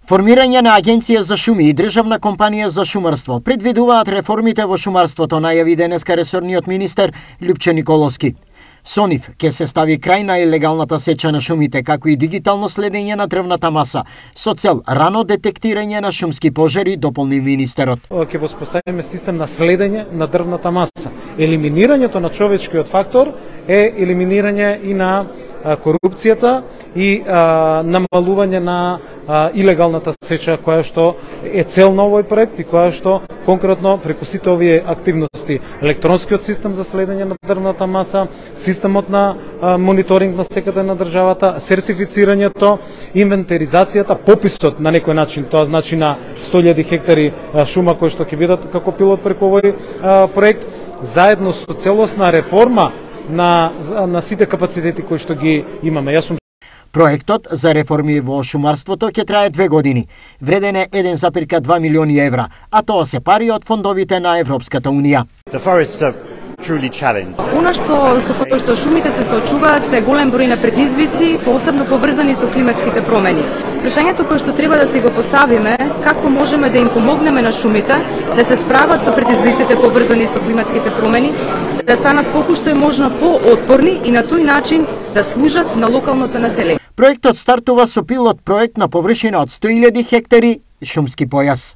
Формирање на Агенција за шуми и Државна компанија за шумарство предвидуваат реформите во шумарството, најави денеска ресорниот министер Љупче Николовски. Со нив ќе се стави крај на илегалната сеча на шумите, како и дигитално следење на дрвната маса, со цел рано детектирање на шумски пожари, дополни министерот. Ќе воспоставиме систем на следење на дрвната маса. Елиминирањето на човечкиот фактор е елиминирање и на корупцијата и намалување на илегалната сеча, која што е цел на овој проект и која што конкретно преку сите овие активности, електронскиот систем за следење на дрвната маса, системот на мониторинг на секата на државата, сертифицирањето, инвентаризацијата, пописот на некој начин, тоа значи на 100.000 хектари шума кои што ќе бидат како пилот преку овој проект, заедно со целосна реформа на сите капацитети кои што ги имаме. Проектот за реформи во шумарството ќе трае 2 години. Вреден е 1,2 милиони евра, а тоа се пари од фондовите на Европската унија. Она со кое што шумите се соочуваат се голем број на предизвици, посебно поврзани со климатските промени. Прашањето кое што треба да си го поставиме, како можеме да им помогнеме на шумите да се справат со предизвиците поврзани со климатските промени, да станат колку што е можно поотпорни и на тој начин да служат на локалното население. Проектот стартува со пилот проект на површина од 100.000 хектари шумски појас.